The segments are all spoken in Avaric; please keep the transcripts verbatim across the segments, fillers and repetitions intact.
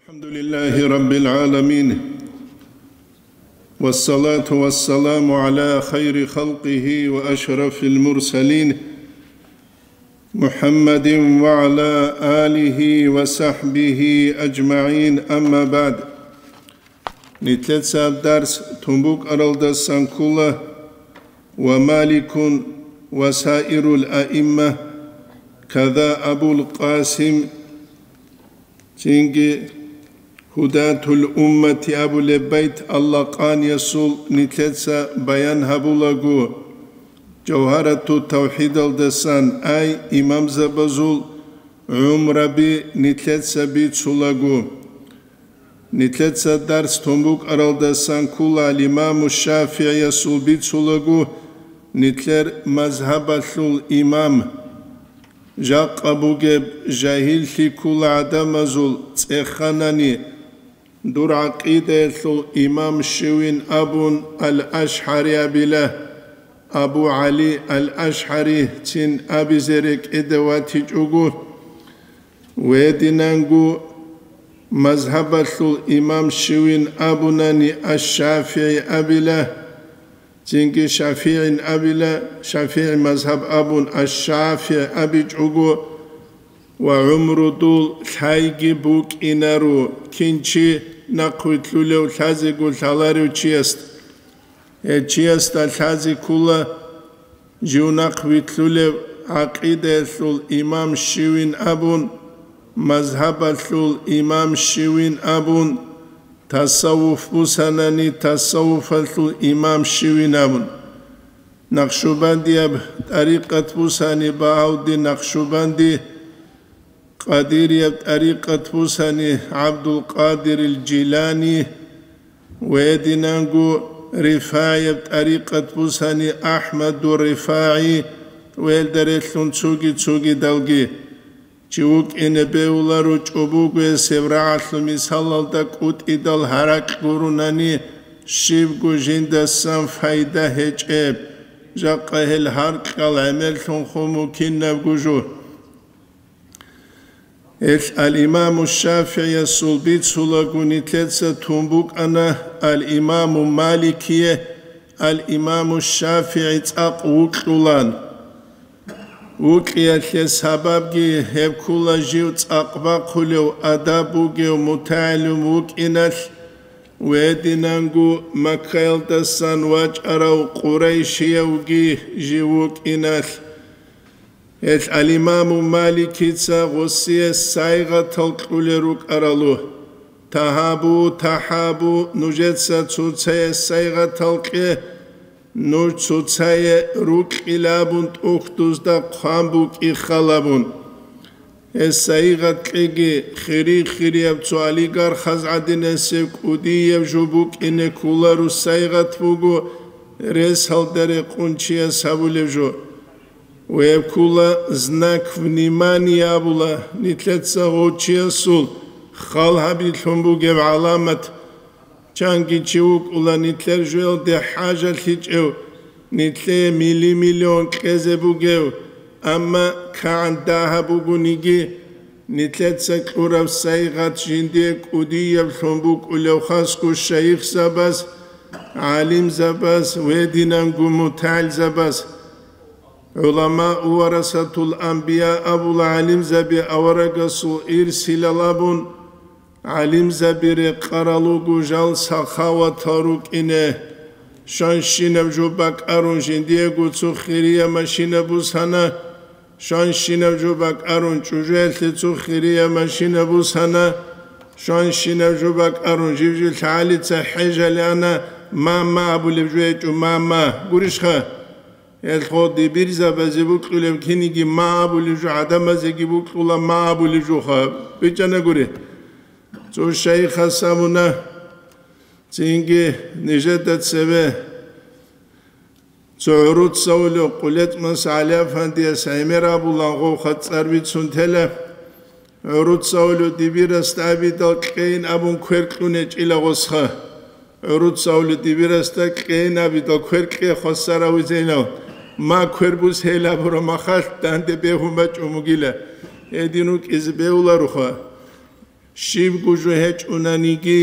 الحمد لله رب العالمين، والصلاة والسلام على خير خلقه وأشرف المرسلين، محمد وعلى آله وصحبه أجمعين، أما بعد. Нилъеца дарс тун букӀаралдасан ккола: «Ва Маликун ва саирул аимма, када Абул Къасим», цинги «Гьудатул уммати» абулеб байт алла къаниясул нилъеца баян гьабулаго, Жавгьарату тавхидалдасан ай имамзабазул гӀумраби нилъеца бицулаго. Нилъеца дарс тун букӀаралдасан ккола имаму ШафигӀиясул бицулаго, нилъер мазгьабалъул имам. Жакъа бугеб жагьиллъи ккола гӀадамазул цӀеханани, дур гӀакъидаялъул имам щивин абун, Ал-АшгӀари абила, Абу ГӀали Ал-аш-, ашгӀарицин абизе рекӀеде ватичӀого, гьединанго мазгьабалъул имам щивин абунани аш-ШафигӀи абила, цинги ШафигӀин абила, ШафигӀи мазгьаб абун аш-ШафигӀи абичӀого, ва гӀумрудул лъайги букӀинаро, кин чи нахъвилълъулев лъазего лъаларев чиясда. Гьев чиясда лъазе ккола жив нахъвилълъулев гӀакъидаялъул имам щивин абун, мазгьабалъул имам щивин абун, тасаввуф бусанани тасаввуфалъул имам щивин абун. Накъшубандияб тӀарикъат бусани Багьавдин Накъшубанди, Къадирияб тӀарикъат бусани ГӀабдулкъадирил Жилани, ва гьединанго рифагӀияб тӀарикъат бусани АхӀмадур РифагӀи, ва гьелда релълъун цоги-цогидалги. Чи вукӀине бегьуларо чӀобогоясеб рагӀалъул мисалалда кӀутӀидал гьаракь гурунани, щибго жиндасан пайда гьечӀеб, жакъа гьел гьаркьал гӀемерлъун хун вукинабго жо. Гьелъ ал-Имаму ШафигӀиясул бицулаго нилъеца тун букӀана, ал-Имаму Маликие ал-Имаму ШафигӀи цӀакъ вукьулан. Вукьиялъе сабабги гьеб ккола жив цӀакъ бахъулев, адаб бугев мутагӀилим вукӀиналъ, ва гьединанго Маккаялдасан вачӀарав къурайшиявги жив вукӀиналъ. Гьелъ ал-Имаму Маликица гъосие сайгъатал кьулел рукӀаралу. Тагьабу, тахӀабу, нужеца цоцае сайгъатал кье, нуж цоцае рукьилабун тӀухьдузда хъван букӀи халабун. Гьес сайгъат кьеги, хири-хирияб цо олигархаз гӀадинасеб кӀудияб жо букӀине кколаро сайгъат буго, ресалда рекъун чияс гьабулеб жо. Веб ккола знак внимания абула, нилъеца гъов чиясул хал гьабилъун бугеб гӀаламат. Чанги чи вукӀула нилъер жоялде хӀажалъичӀев, нилъее мили-миллион кьезе бугев, амма кагӀан дагьаб бугониги, нилъеца кьураб сайгъат жиндие кӀудияблъун букӀулев хасго шайихзабаз, гӀалимзабаз, гьединанго мутагӀилзабаз. ГӀуламаъ варасатул анбия абула, гӀалимзаби аварагасул ирсилал абун, гӀалимзаби рекъарал руго жал сахаватал рукӀине. Щанщинаб жо бакӀарун жиндиего цо хирия машина бусана, щанщинаб жо бакӀарун чӀужуялъе цо хирия машина бусана, щанщинаб жо бакӀарун жив-жив лъагӀалица хӀежалъана, мама абулеб жо гьечӀо, мама. Гурищха? Гьелъго дибирзабазе букьулеб киниги ма абулеб жо, гӀадамазеги букьула ма абулеб жоха. БичӀчӀана гури. Цо шайихас абуна, цинги нижеда цеве цо гӀуруц цавулев КъулетӀмас ГӀалиафандияс гӀемер абулан гъовха цӀар бицун тела. ГӀуруц цавулев дибирасда абидал кьейин абун квер кьун гьечӀила гъосха. ГӀуруц цавулев дибирасда кьейин абидал квер кье хвасар авизейнав, ма квер бус гьел абураб махалъ данде бегьун бачӀун бугила. Гьедин рукӀизе бегьулароха. Щибго жо гьечӀунаниги,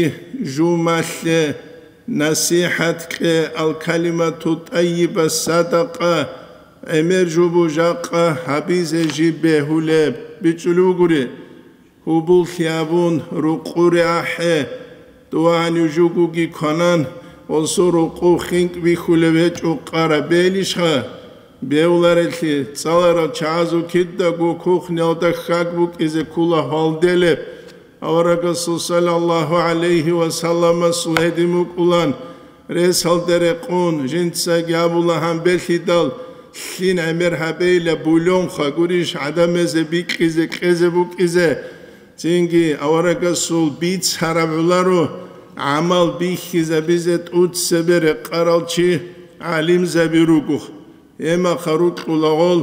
жумалъе насихӀат кье, ал-калимату тӀайиба садакъа, гӀемер жубу жакъа гьабизе жиб бегьулеб. БичӀчӀулев вугури, гьубуллъи абун, рукъуре ахӀе, дугьанив жугоги кванан, осо рукъу хинкӀ бихьулев гьечӀо къараб белищха? Бевларелъи, цӀаларал чагӀазул кидаго кухнялда хьаг букӀизе ккула гьалделеб. Аварагасул саллаллагьу гӀалайгьи ва салламасул гьедин букӀулан, ресалде рекъун, жинцаги абула гьанбелъидал, лъин гӀемер гьабейила бульонха гурищ гӀадамазе бикьизе кьезе букӀизе. Цинги аварагасул бицараб гӀоларо гӀамал бихьизабизе тӀуц цебе рекъарал чи гӀалимзаби руго. Гьемаха рукьула гъол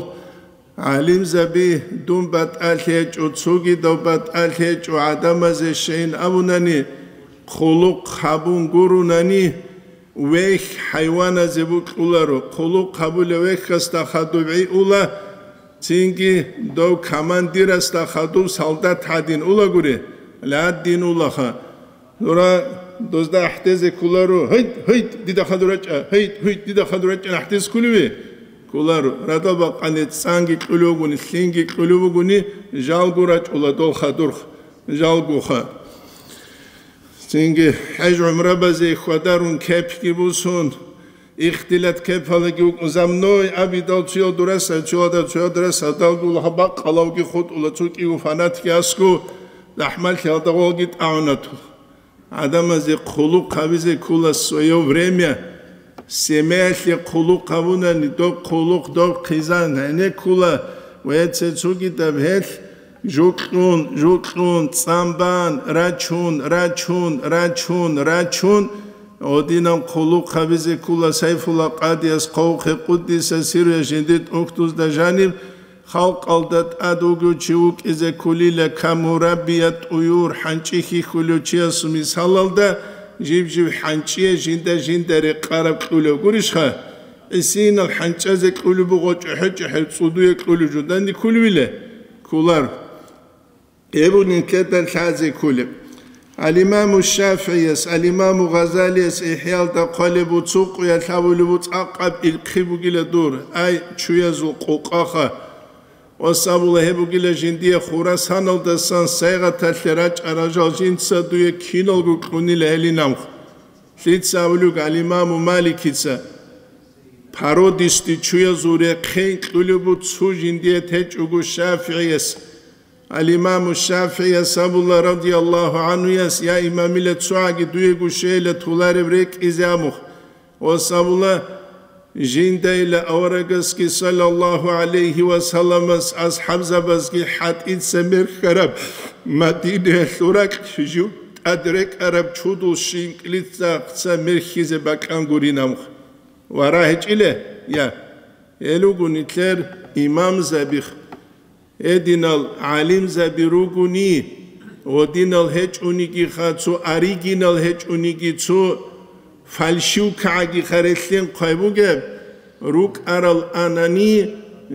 гӀалимзаби, дун батӀалъи гьечӀо, цогидав батӀалъи гьечӀо, гӀадамазе щайин абунани, хъулухъ гьабун гурунани, вехь хӀайваназе букьуларо, хъулухъ гьабулев вехьасда хадуб гӀи ула, цинги дов командирасда хадуб солдат гӀадин улагури, гьадин улаха. Нура дозда ахӀдезе кколаро: «Гьайт, гьайт, дида хадур рачӀа, гьайт, гьайт, дида хадур рачӀа», ахӀдезе кколеве? Кколаро, радал бакъани цӀанги кьулев вугони, лъинги кьулев вугони, жалго рачӀула дол хадурх, жалгоха. Цинги хӀеж-гӀумрабазе хьвадарун кепги бусун, ихтилат кепалаги вукӀун, за мной абидал цоял дураса, цоялда цоял дураса, далгула гьаб бакъалавги хутӀула, цо кӀиго фанатги аскӀо, захӀмалъиялда гъолги тӀагӀунатула. ГӀадамазе хъулухъ гьабизе ккола свое время. Семьялъе хъулухъ гьабунани, доб хъулухъ доб хъизан гьене ккола, ва цецогидаб гьелъ жукьун, жукьун, цӀан бан, рачун, рачун, рачун, рачун, гьодинаб хъулухъ гьабизе ккола Сайфулла къадияс хъвавухъе, къуддиса сирругьу, жиндир тӀухьдузда жаниб, халкъалда тӀад вугев чи вукӀизе кколила, камураббия тӀуюр, хӀанчӀи хьихьулев чиясул мисалалда, жиб-жиб хӀанчӀие жинда-жинда рекъараб кьулев гурищха? ГӀисинал хӀанчӀазе кьулеб буго чӀухӀу-чӀухӀел цӀудуе кьулев жо данде кколевила? Кколар. Гьеб нилъеда лъазе кколеб. Ал-Имаму ШафигӀияс, Ал-Имаму Гъазалияс ИхӀяалда хъвалеб буго, цо къуялъ абулеб буго, цӀакъаб илхъи бугила дур, ай, чуязул къокъаха. Ва сабула гьеб бугила жиндие Хурасаналдасан Сайгъаталъе рачӀарал жал жинца дуе киналго кьунила гьелин амх. Лъица абулеб Ал-Имаму Маликица, породистый чуязул рехъен кьулеб буго цо жиндие течӀого ШафигӀияс. Ал-Имаму ШафигӀияс абула, радияллагьу гӀанхуяс: «Я имамила, цогӀаги дуего щейила толареб рекӀизе амух». Ва сабула, жиндайила аварагасги, саллаллагьу гӀалайгьи ва салламас, асхӀабзабазги хӀатӀица мерхьараб Мадинаялъул ракь жив тӀад рекӀараб чудул щинкӀлицахъца мерхьизе бакӀан гурин амух. Вара гьечӀила, я, гьел руго нилъер имамзабих. Гьединал гӀалимзаби ругони, гьодинал гьечӀонигиха, цо оригинал гьечӀониги, цо фальшивкагӀагиха релълъин хъвай бугеб, рукӀарал анани,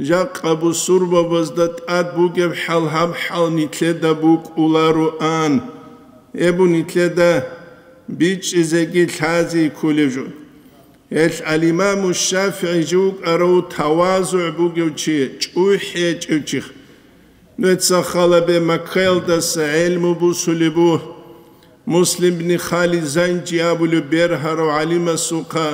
жакъа бусурбабазда тӀад бугеб хӀал гьаб хӀал нилъеда букӀулароан. Гьеб нилъеда бичӀчӀизеги лъази кколеб жо. Гьелъ ал-Имаму ШафигӀи жив вукӀарав тавазугӀ бугев чи, чӀухӀи гьечӀев чихъ. Нуца халабе Маккаялдаса гӀелму бусулеб буго, Муслим бни Халид Занжи абулев бергьарав гӀалимасухъа,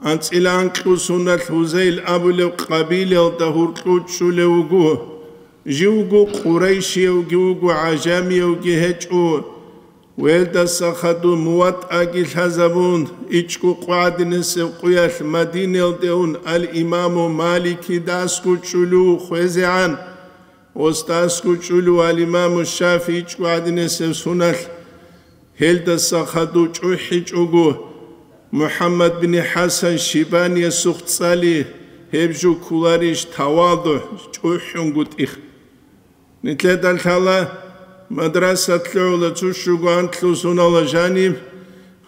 анцӀила анкьго соналъ Гьузайл абулев къабилаялда гьуркьу чӀулев вуго. Живго къурайшиявги вуго, гӀажамиявги гьечӀо. Велдаса хадуб МуватӀаги лъазабун, ичӀго къо гӀадинасеб къуялъ Мадинаялде ун ал-Имаму Маликидасго чӀулев хвезегӀан, остасго чӀулев ал-Имаму ШафигӀи ичӀго гӀадинасеб соналъ. Гьелдаса хадуб чӀухӀичӀого, МухӀаммад бин ХӀасан Шибаниясухъ цӀали, гьеб жо кколарищ тавадугӀ, чӀухӀунгутӀих. Нилъеда лъала мадрасат лъугӀула цо щуго анлъго сонала жаниб,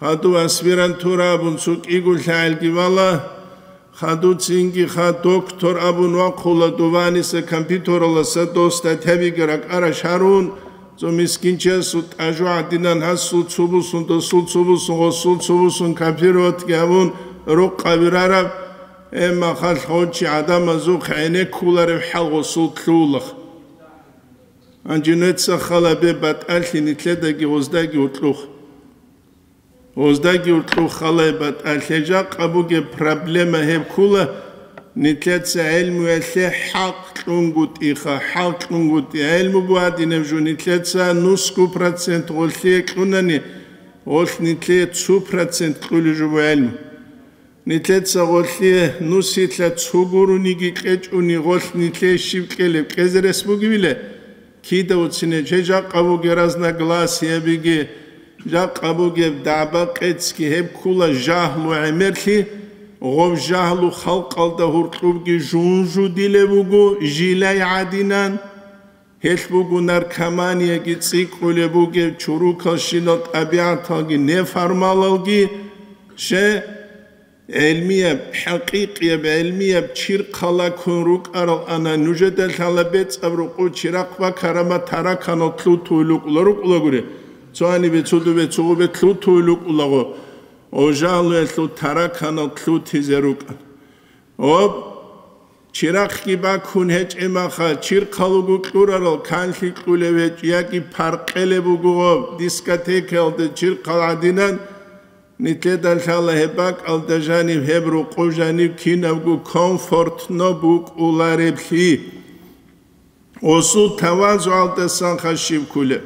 хадуб аспирантура абун цо кӀиго лъагӀелги бала, хадуб цинги ха доктор абун вахъула дованиса компьютераласа дос статьябиги ракӀараш гьарун, Цо мискинчиясул тӀажу гӀадинан гьасул цо бусун, досул цо бусун, гъосул цо бусун копироватги гьабун рукъаби рараб, гьеб махалъ гъов чи гӀадамазухъ гӀенеккулареб хӀал гъосул лъугьула. Гьанже нуца хал гьабе батӀалъи нилъедаги гъоздаги гьоркьухъ. Гъоздаги гьоркьухъ хал гьабе батӀалъи. Жакъа бугеб проблема гьеб ккола, нилъеца гӀелмуялъе хӀакъ кьунгутӀиха, хӀакъ кьунгутӀи. ГӀелму бугьадинаб жо нилъеца нусго процент гъолъие кьунани, гъолъ нилъее цо процент кьулеб жо буго гӀелму. Нилъеца гъолъие нусилъа цо гурониги кьечӀони, гъолъ нилъее щиб кьелеб, кьезе рес бугебила? Кида уцинеб, жакъа бугеб разногласиябиги, жакъа бугеб дагӀба-къецги, гьеб ккола жагьлу гӀемерлъи, гъоб жагьлу халкъалда гьоркьобги жунжудилеб буго жилай гӀадинан. Гьелъ буго наркоманияги цӀикӀкӀулеб бугеб, чорокалщинал тӀабигӀаталги неформалалги, ще, гӀелмияб, хӀакъикъияб гӀелмияб чирхъала ккун рукӀарал ана, нужеда лъала бецӀаб рукъу чирахъ бакарама тараканал лъутуй лукӀула рукӀулагури, цо гьанибе, цо дубе, цо гъубе лъутуй лукӀулаго, о жагьлуялъул тараканал лъутизе рукӀа. Об, чирахъги бакун гьечӀеб маха, чирхъалуго кьурарал канлъи кьулев гьечӀ, яги паркъелеб буго гъоб, дискотекаялда чирхъал гӀадинан, нилъеда лъала гьеб бакӀалда жаниб, гьеб рукъу жаниб кинабго комфортно букӀулареблъи. Гъосул тавазугӀалдасан хашиб кколеб.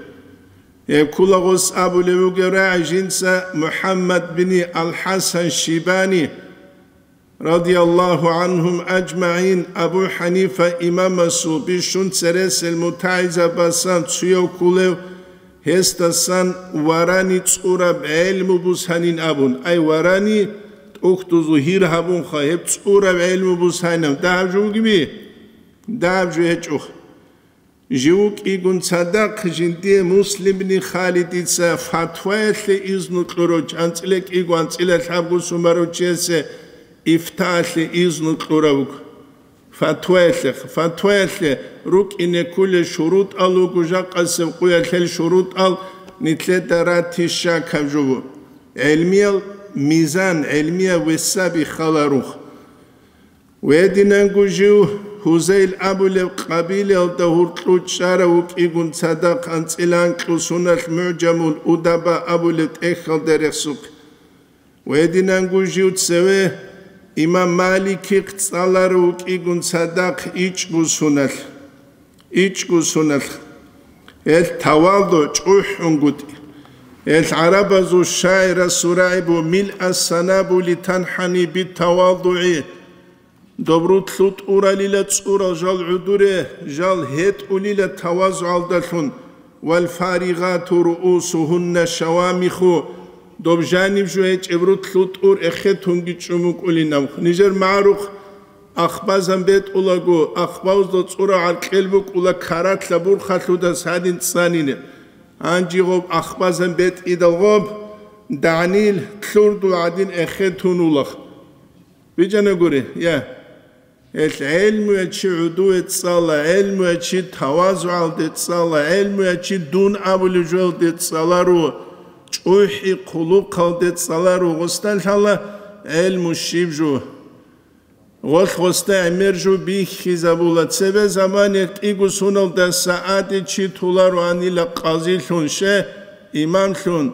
Гьеб ккола гъос абулеб бугеб рагӀи жинца МухӀаммад бини Ал-ХӀасан Шибани, радияллагьу гӀанхум ажмагӀин, Абу ХӀанифа имамасул бищун цересел мутагӀилзабасан цуяв кколев, гьесдасан варани цӀураб гӀелму бусанин абун, ай, варани тӀухьдузул гьир гьабунха, гьеб цӀураб гӀелму бусанин абун, дагьаб жо бугеби? Дагьаб жо гьечӀо. Жив вукӀигун цадахъ жиндие Муслимни Халидица фатваялъе изну кьурав, анцӀила кӀиго, анцӀила лъабго сумарав чиясе ифтаалъе изну кьурав вуго. Фатваялъе, фатваялъе рукӀине кколел шурутӀал руго, жакъасеб къуялъел шурутӀал нилъеда ратища ккаб жо буго. ГӀелмиял мизан, гӀелмиял весаби халарухъ. Гьединанго жив Гьузайл абулеб къабилаялда гьоркьов чӀарав вукӀигун цадахъ анцӀила анкьго суналъ МугӀжамул Удаба абулеб тӀехьалда рехсухъе. Гьединанго жив цеве имам Маликихъ цӀаларав вукӀигун цадахъ ичӀго суналъ. ИчӀго суналъ. Гьел тавалду чӀухӀунгутӀи. Гьел гӀарабазул шагӀирасул рагӀи буго: «Милъа санабули танхӀани битавалдугӀи». Доб рулъу тӀуралила цӀурал жал гӀодоре, жал гьетӀулила тавазугӀалдалъун, «Вал фаригъату руусугьунна шавамиху», доб жаниб жо гьечӀеб рулъу тӀур эхетунги чӀумукӀулин абухъ. Нижер магӀарухъ ахбазан бетӀулаго, ахбазда цӀурал гӀаркьел букӀула каралъа бурхалъудас гьадин цӀанине. Гьанжи гъоб ахбазан бетӀидал гъоб, дагӀнил, лъурдул гӀадин эхетун улахъ. Бижана гури, я. Гьел гӀелмуя чи гӀудуве цӀала, гӀелмуя чи тавазугӀалде цӀала, гӀелмуя чи дун абулев жоялде цӀаларо, чӀухӀи хъулухъалде цӀаларо, гъосда лъала гӀелму щиб жо. Гъолъ гъосда гӀемер жо бихьизабула, цебе замане кӀиго суналдаса гӀади чи толароанила къазилъун, ше, имамлъун.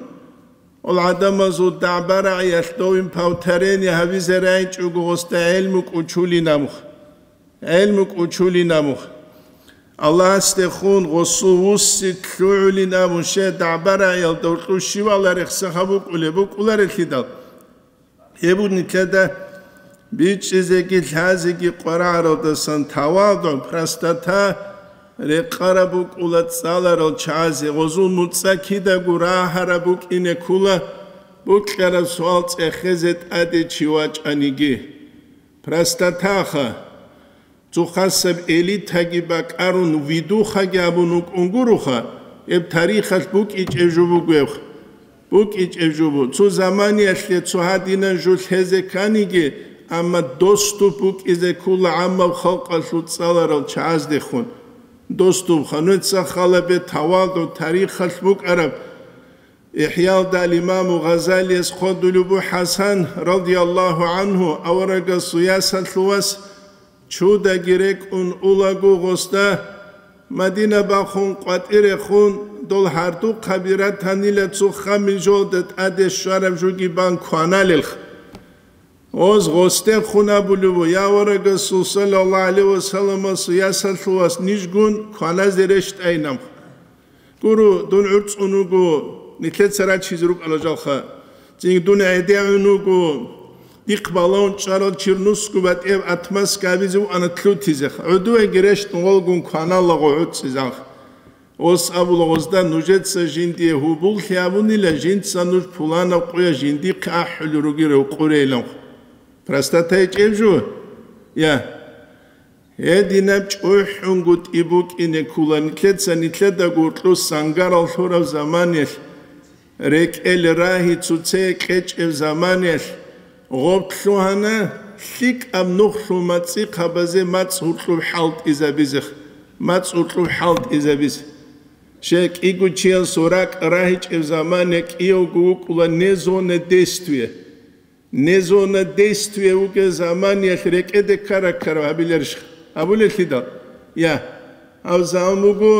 Ол гӀадамазул дагӀба-рагӀиялъ довин повторение гьабизе рагӀичӀого гъосда гӀелму кӀучулин абухъ. ГӀелму кӀучулин абухъ. Аллагьасдехун гъосул вуссин лъугӀулин абун, ше, дагӀба-рагӀиялда гьоркьов щивала рехсаха букӀулеб букӀуларелъидал. Гьеб нилъеда бичӀчӀизеги лъазеги къварагӀаралдасан тавадугӀ, простота рекъараб букӀула цӀаларал чагӀазе, гъозул муцӀа кидаго рагьараб букӀине ккула, букӀараб суал цӀехезе тӀаде чи вачӀаниги. Простотаха. Цо хасаб элитаги бакӀарун, видухаги абун вукӀун гуроха, гьеб тарихалъ букӀичӀеб жо бугеб, букӀичӀеб жо буго. Цо заманиялъе цо гьадинан жо лъезе кканиги, амма доступ букӀизе ккула гӀаммаб халкъалъул цӀаларал чагӀаздехун. Достуб хануца халабе тавалдул тарихалъ букӀараб. ИхӀялда ал-Имаму Гъазалияс хъодулеб бу ХӀасан, радияллагьу гӀанхӀу, аварагасул ясалъувас чудаги рекӀун улаго гъосда, Мадина бахун къватӀирехун, дол гьардухъаби ратанила цо ххамил жолда тӀаде щвараб жуги бан кваналелха. Оз гъосдехун абулеб бу, я аварагасул саллаллагьу гӀалайгьи ва салламасул ясалъувас, нижгун кваназе рещтӀайинаб. Гуро, дун гӀурцӀун вуго, нилъеца рачизе рукӀала жалха. Цинги дун гӀедегӀун вуго, дихъ балагьун чӀарал чирнусго батӀияб атмаска абизе вуана лъутизеха. ГӀодовеги рещтӀун валгун кваналаго гӀуцӀизанха. Ос абула гъозда, нужеца жиндие гьубуллъи абунила, жинца нуж пуланаб къуя жиндихъе ахӀулел ругел ревкъурейланха. Простата гьечӀеб жо? Я. Гьединаб чӀухӀунгутӀи букӀине ккула нилъеца нилъеда гуркьу сангарал лъураб заманиялъ, рекӀел рагьи цуцее кьечӀеб заманиялъ, гъоб лъугьана лъикӀаб нухлъул мацӀихъабазе мацӀ гьуркьуб хӀалтӀизабизе, мацӀ гьуркьуб хӀалтӀизабизе. Щай кӀиго чиясул ракӀ рагьичӀеб замания кӀиявго вукӀула не зона действия. Не зона действия вугеб заманиялъ рекӀеде ккара-ккараб гьабиларищха? Гьабулелъидал? Я, гьаб заман буго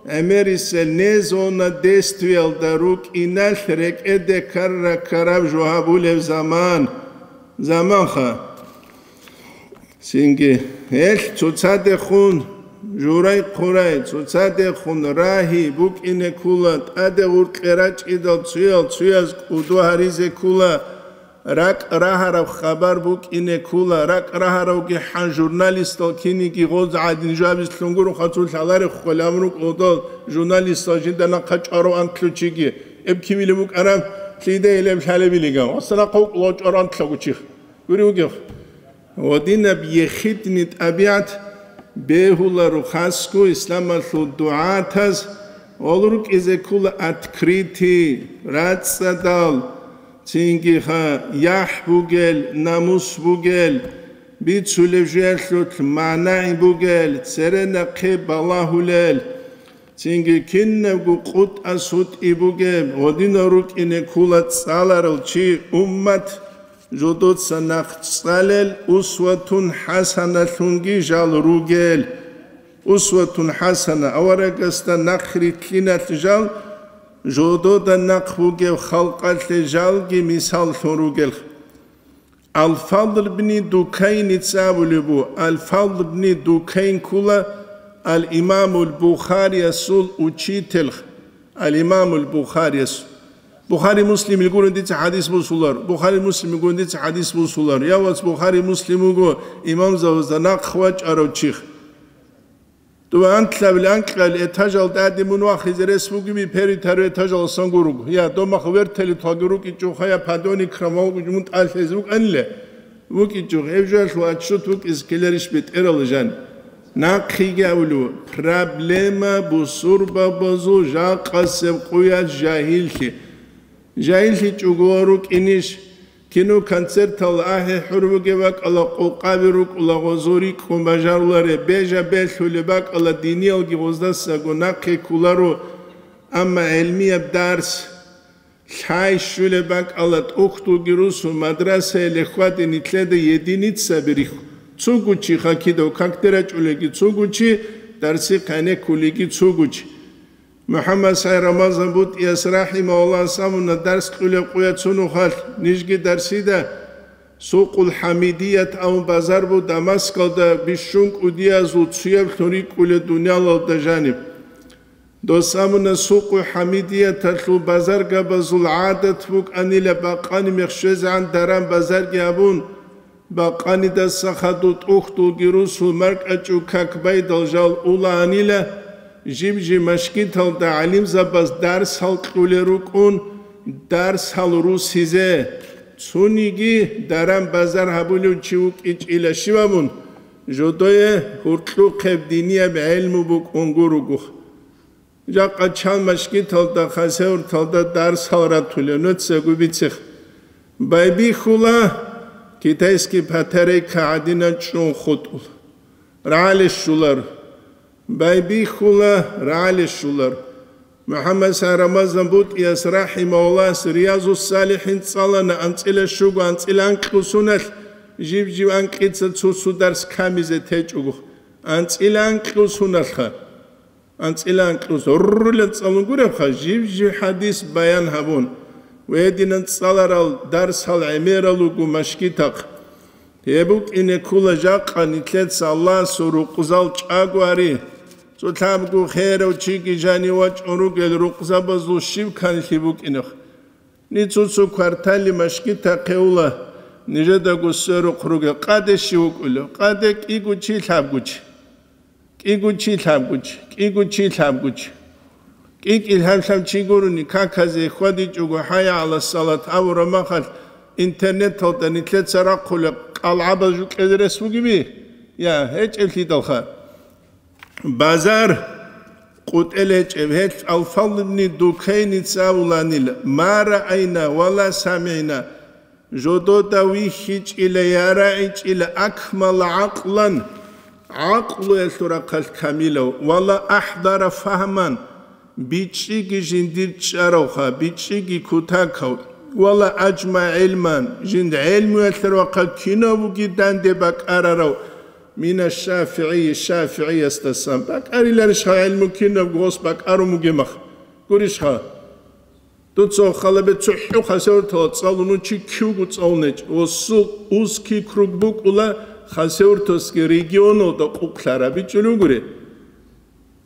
гӀемерисел не зона действиялда рукӀиналъ рекӀеде ккара-ккараб жо гьабулеб заман. Заманха. Цинги гьелъ цоцадехун журай-хъурай, цоцадехун рагьи букӀине ккула, тӀаде гъуркье рачӀидал цуял цуяз кӀудо гьаризе ккула, ракӀ рагьараб хабар букӀине ккула, ракӀ рагьаравги хӀан журналистал киниги гъоз гӀадин жабизлъун гуро хъацул лъаларехъ хъвелаб рукӀ гъодал журналистал жинда нахъа чӀварав антлъучиги, эб кивилеб букӀараб, лъида гьелеб лъалебилиган, ва санахъав кӀулав чӀварав антлъагучи. Гури вугев. Гъодинаб ехидни тӀабигӀат бегьуларо хасго исламалъул дугӀатаз, гъол рукӀизе ккула открытый, рацӀцӀадал, цинги ха, яхӀ бугел, намус бугел, бицулеб жуялъулъ манагӀи бугел, цере нахъе балагьулел, цинги кинабго къутӀа-сутӀи бугеб, гъодинав рукӀине ккула цӀаларал чи, уммат, жодоца нахъ цӀалел, усватун хӀасаналъунги жал ругел. Усватун хӀасана, аварагасда нахърилълъиналъ жал, жодода нахъ бугеб халкъалъе жалги мисаллъун ругел. Ал-Фадл бни Дукайница абулеб бу, Ал-Фадл бни Дукайн ккула Ал-Имамул Бухариясул учитель, Ал-Имамул Бухарияс. Бухари Муслимил гурун дица хӀадис бусулар, Бухари Муслимил гурун дица хӀадис бусулар. Я вац, Бухари Муслим вуго имамзабазда нахъ вачӀарав чих. Дова анлъабил анкьабил этажал тӀаде мун вахизе рес бугеби, перитару этажаласан гуруго. Я, домах вертолет ваги рукӀичӀухъа, я подъёмник крамал мун тӀалъизе вукӀанила. ВукӀичӀухъ, гьеб жоялъул отчет вукӀизе ккеларищ бетӀерала жан? Нахъиги абулев, проблема бусурбабазул жакъасеб къуялъ жагьиллъи. ЖагьиллъичӀого рукӀинищ? Кино-концертал ахӀи-хӀур бугеб бакӀала къокъаби рукӀула гъозо рикӀкӀун бажаруларе, бежа-белъулеб бакӀала диниялги гъоздасаго нахъе кколаро, амма гӀелмияб дарс, лъай щулеб бакӀала тӀухьдулги русун мадрасаяле хьваде нилъеда единицаби рихьу. Цугучи хакидав какде рачӀулеги цугучи, дарси къайне ккулиги цугучи. МухӀаммад СагӀид Рамазан БутӀияс рахӀимагьуллагь самуна дарс кьулеб къуя цунухъалъ, нижги дарсида Сукъул ХӀамидият абун базар бу Дамаскалда бищун кӀудиязул цуяблъун рикӀкӀулел дуниялалда жаниб. Дос амуна Сукъул ХӀамидияталъул базаргабазул гӀадат букӀанила бакъани мех щвезегӀан даран базарги абун, бакъанидаса хадуб тӀухьдулги русул маркӀачӀул как байдал жал улаанила, жиб-жиб машгиталда гӀалимзабаз дарсал кьулел рукӀун, дарсал русизе, цуниги даран-базар гьабулев чи вукӀичӀила щиб абун, жодое гьуркьухъеб динияб гӀелму букӀун гуругух. Жакъа чан машгиталда, хасавюрталда дарсал ратулев, нуцаго бицех. Байбихьула, китайский батарейка гӀадинан чӀун хутӀула. РагӀалищ щулар. Байбихьула, рагӀалищулар. МухӀаммад Сай Рамазан БутӀияс рахӀимагьуллагьас Риязус-СалихӀин цӀалана анцӀила щуго анцӀила анкьго суналъ, жив-жив анкьица цо-цо дарс камизе течӀого. АнцӀила анкьго суналъха. АнцӀила анкьго су-, руррулел цӀалун гуребха, жив-жив хӀадис баян гьабун. Гьединан цӀаларал дарсал гӀемерал руго машгитахъ. Гьеб букӀине ккола жакъа нилъеца Аллагьасул рукъзал чӀаго ари. Цо лъабго херав чиги жанив вачӀун ругел рукъзабазул щив канлъи букӀинех. Ниж цо-цо кварталли машгитахъе ула, нижедаго сверухъ ругел къаде щив вукӀулев? Къаде кӀиго чи, лъабго чи. КӀиго чи, лъабго чи, кӀиго чи, лъабго чи. КӀи-кӀи лъаб-лъаб чи гурони, каказе хьвадичӀого, хӀайя гӀала салат абураб махалъ, интернеталда нилъеца рахъулеб кӀалгӀабаз жукьезе рес бугеби? Я, гьечӀеблъидалха. Базар къутӀел гьечӀеб, гьелъ Алфал ибни Дукайница абуланила: «Ма раайна ва ла самигӀна». Жодода вихьичӀила, я рагӀичӀила акмала гӀакълан, гӀакълуялъул рахъалъ камилав, вала ахӀдара фагьман, бичӀчӀиги жиндир чӀаравха, бичӀчӀиги кутакав, вала аджма гӀилман, жинд гӀелмуялъул рахъалъ кинабуги данде бакӀарарав, мина ШафигӀи, ШафигӀиясдасан. БакӀариларищха гӀелму кинабго гъос бакӀарун бугеб мах? Гурищха? Дуца халабе цохӀо хасавуртала цӀалун чи кивго цӀалун гьечӀ. Осул узкий круг букӀула хасавуртасги регионалда къукълъараб бичӀчӀулев гури.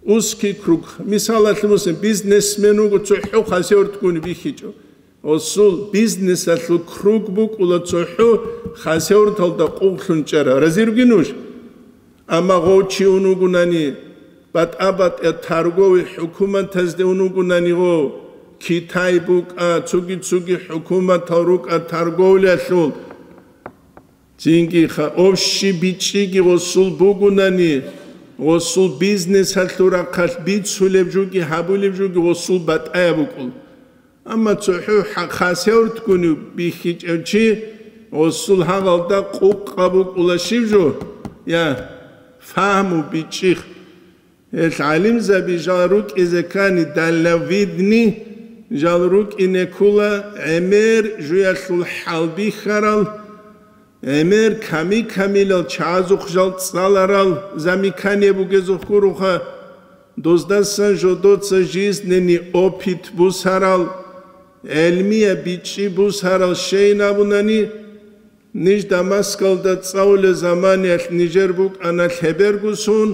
Узкий круг. Мисалалъе, мусин, бизнесмен вуго, цохӀо хасавуртгуни бихьичӀо. Осул бизнесалъул круг букӀула цохӀо хасавурталда къукълъун чӀара. Разируги нуж? Амма гъов чи ун вугунани, батӀа-батӀа торговый хӀукуматазде ун вугунани гъов, Китай букӀа, цуги-цуги хӀукуматал рукӀа торговлялъул, цинги ха-, общий бичӀчӀиги гъосул бугунани, гъосул бизнесалъул рахъалъ бицулеб жуги гьабулеб жуги гъосул батӀаяб букӀул. Амма цохӀо хӀа-, хасавуртгуни бихьичӀев чи гъосул гьагъалда къукъа букӀула щив жо? Я, фагьму, бичӀчӀи. Гьел гӀалимзаби жал рукӀизе ккани, дальновидный, жал рукӀине ккула гӀемер жуялъул хӀалбихьарал, гӀемер ками-камилал чагӀазухъ жал цӀаларал, замикание бугезухъ гуроха, доздасан жодоца жизненный опыт бусарал, гӀелмияб бичӀчӀи бусарал щейин абунани, ниж Дамаскалда цӀалулел заманиялъ нижер букӀана лъебергусун,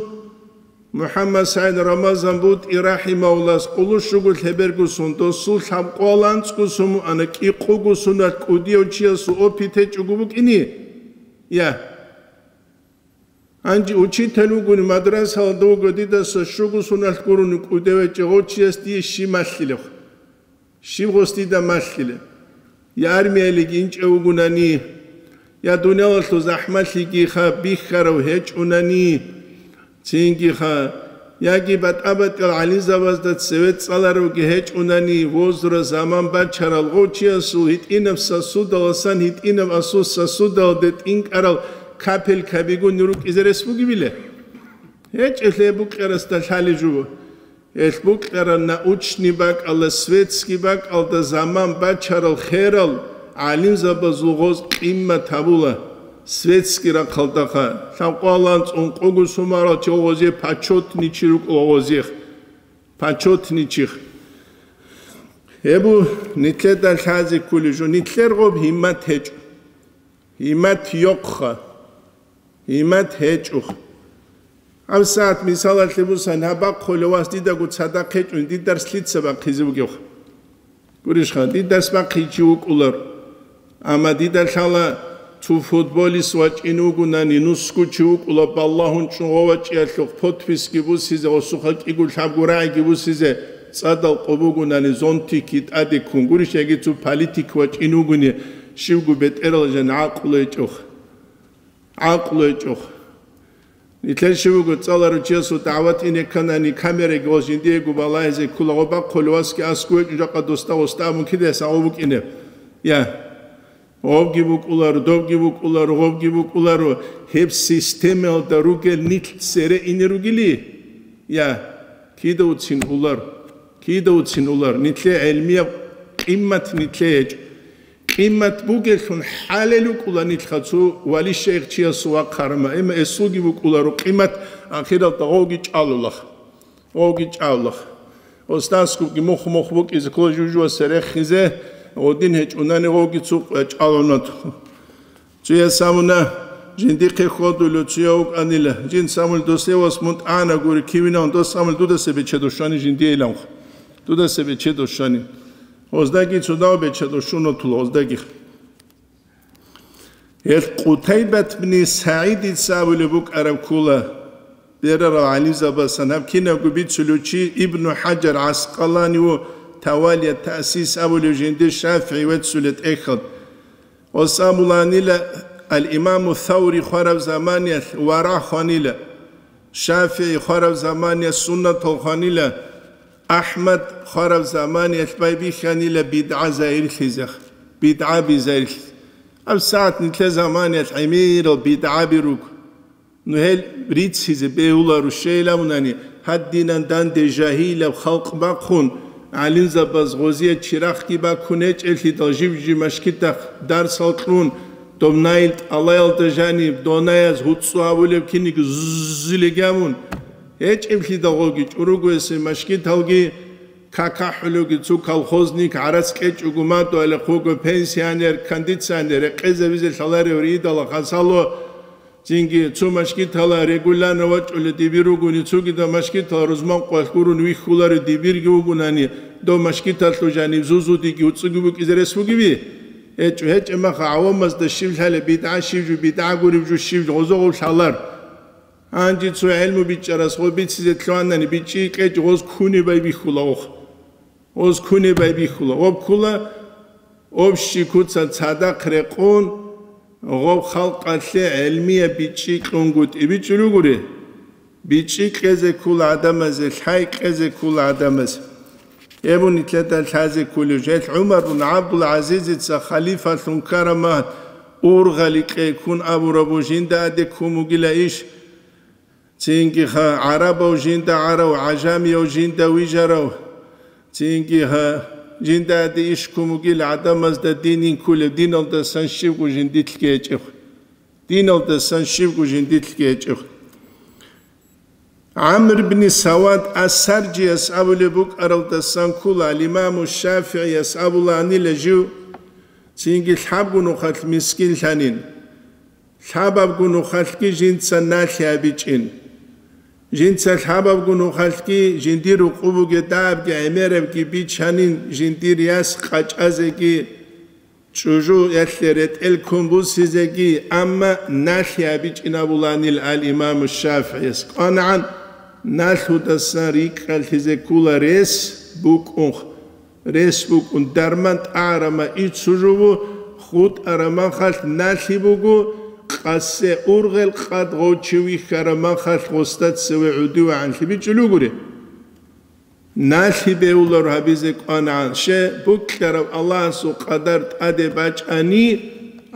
МухӀаммад СагӀид Рамазан БутӀи рахӀимагьуллас къулущуго лъебергусун, досул лъабкъоялда анцӀгусун муана, кӀикъугусуналъ кӀудияв чиясул опыт гьечӀого букӀине? Я. Гьанже учитель вугони, мадрасалда вуго, дидаса щугусуналъ гурони кӀудев гьечӀев гъов чияс дие щиб малъилев? Щиб гъос дида малъила? Я армиялиги инчӀев вугунани, я дуниялалъул захӀмалъигиха бихьарав гьечӀунани, цингиха, яги батӀа-батӀиял гӀалимзабазда цеве цӀаларавги гьечӀунани, возра заман бачарал гъов чиясул гьитӀинаб сосудаласан гьитӀинаб асул сосудалде тӀинкӀарал капелькабигун рукӀизе рес бугебила? ГьечӀелъе букьарасда лъалеб жо. Гьелъ букьараб научный бакӀалда, светский бакӀалда заман бачарал херал гӀалимзабазул гъоз къиммат гьабула. Светский рахъалдаха, лъабкъоялда анцӀгун къугу сумарал чи гъозие почётный чи рукӀула гъозие. Почётный чи. Гьеб нилъеда лъазе кколеб жо, нилъер гъоб гьиммат гьечӀо. Гьиммат йокъха. Гьиммат гьечӀо. ГьабсагӀат мисалалъе бусан, гьаб бахъулев вас дидаго цадахъ гьечӀун, дида дарс лъица бахъизе бугев? Гурищха, дида дарс бахъичи вукӀулар. Амма дида лъала цо футболист вачӀин вугунани, нусгу чи вукӀула, балагьун чӀугъа вачӀиялъухъ подписки бусизе, гъосухъа кӀиго лъабго рагӀиги бусизе, цӀадал къо бугунани, зонтики тӀаде ккун. Гурищ, яги цо политик вачӀин вугуни, щивго бетӀерал жан гӀакълу гьечӀох. ГӀакълу гьечӀо. Нилъер щивго цӀаларав чиясул дагӀват ине кканани, камераги гъоз жиндиего балагьизе ккола, гъо бахъулев васги аскӀов гьечӀо, жакъа досда гъосда абун кидасе гъо букӀине. Я. Гъобги букӀуларо, добги букӀуларо, гъобги букӀуларо. Гьеб системаялда ругел нилъ цере ине ругели? Я, кида уцин улар, кида уцин улар, нилъе гӀелмияб къиммат нилъе гьечӀо. Къиммат бугелъун хӀалел вукӀула нилъха цо вали-шейх чиясул вахъарама, амма эсулги букӀуларо къиммат, ахиралда гъовги чӀалулах. Гъовги чӀалулах. Остаскубги мухъ-мухъ букӀизе ккола жужуасе рехизе, гъодин гьечӀунани гъовги цо чӀалунат. Цуяс абуна, жиндихъе хьодулев цуяв вукӀанила, жинца абуна, досевас мун тӀана гури, кивинав, дос абуна, дудаса бечедов щвани жиндиейилан. Дудаса бечедов щвани. Гъоздаги цо дав бечедов щунатула гъоздаги. Гьел Къутайбат бни СагӀидица абулеб букӀараб ккола. Берарал гӀалимзабасан гьаб кинабго бицулев чи Ибну ХӀаджар ГӀаскъалани ва Тавалия Тасис абулев жиндир ШафигӀи веццулеб тӀехьалда. Гъос абуланила, ал-Имаму Саври хвараб заманиялъ варагӀ хванила, ШафигӀи хвараб заманиялъ суннатал хванила, АхӀмад хвараб заманиялъ байбихьанила бидгӀа загьирлъизе, бидгӀаби загьирлъизе. Гьаб сагӀат нилъер заманиялъ гӀемерал бидгӀаби руго. Ну, гьел риццизе бегьуларо щейилавунани, гьадинан данде жагьилаб халкъ бахъун, гӀалимзабаз гъозие чирахъги бакун гьечӀеблъидал жив-жив машгитахъ дарсал кьун, доб найил тӀалаялда жаниб донаяз гьуцӀцӀу гьавулеб киниги зузилеги гьавун, гьечӀеблъидал гъоги чӀуругоясе машгиталги какахӀулевги цо колхозник гӀарац кьечӀого мадугьалихъ вуго пенсионер, кондиционер, рекъезабизе лъаларев ридала хасало, Цинги цо машгитала регулярно вачӀулев дибир ругони, цогидал машгитал рузман къвалъ гурун вихьуларев дибирги вугунани, дов машгиталъул жанив зузудиги уцӀуги букӀизе рес бугеби? ГьечӀо, гьечӀеб маха гӀавамазда щиб лъалеб, бидгӀа щиб жо, бидгӀа гуреб жо щиб жо, гъозо гъов лъалар. Гьанже цо гӀелму бичӀчӀарас гъо бицизе лъугьанани, бичӀчӀи кьечӀ гъоз кунебай бихьула охъ. Оз кунебай бихьула, об ккула, об щи куца цадахъ рекъун, гъоб халкъалъе гӀелмияб бичӀчӀи кьунгутӀи бичӀчӀулугури. БичӀчӀи кьезе ккула гӀадамазе, лъай кьезе ккула гӀадамазе. Эбун нилъеда лъазе ккулев, жел ГӀумар бун ГӀабдул-ГӀазизица халифалъун ккараб махт ургъали кьей ккун абураб жинда аде ккун бугила иш. Цинги ха гӀарабав жинда гӀарав, гӀажамияв жинда вижарав, цинги ха жинда аде иш ккун бугил гӀадамазда дин инкулев, диналдасан щибго жиндилъги гьечӀев. Диналдасан щибго жиндилъги гьечӀев. ГӀамр бни Савад ас-Саржияс абулеб букӀаралдасан ккула, ал-Имаму ШафигӀияс абулаанила жив, цинги лъабго нухалъ мискинлъанин. Лъабабго нухалъги жинца налъи гьабичӀин. Жинца лъабабго нухалъги жиндир рукъу бугедабги гӀемерабги бичанин, жиндир яс къачӀазеги, чӀужуялъе ретӀел ккун бусизеги, амма налъи гьабичӀин абуланил ал-Имаму ШафигӀияс. КӀванагӀан налъудасан рикӀкӀалъизе ккула рес букӀун. Рес букӀун дарман тӀагӀарама ицу жугьу, хутӀара махалъ налъи буго, къасе ургъел къад гъов чи вихьара махалъ гъоста цеве гӀудивегӀанлъи бичӀчӀулугури. Налъи бегьулар гьабизе кӀванагӀан, ще букьараб Аллагьасул къадар тӀаде бачӀани,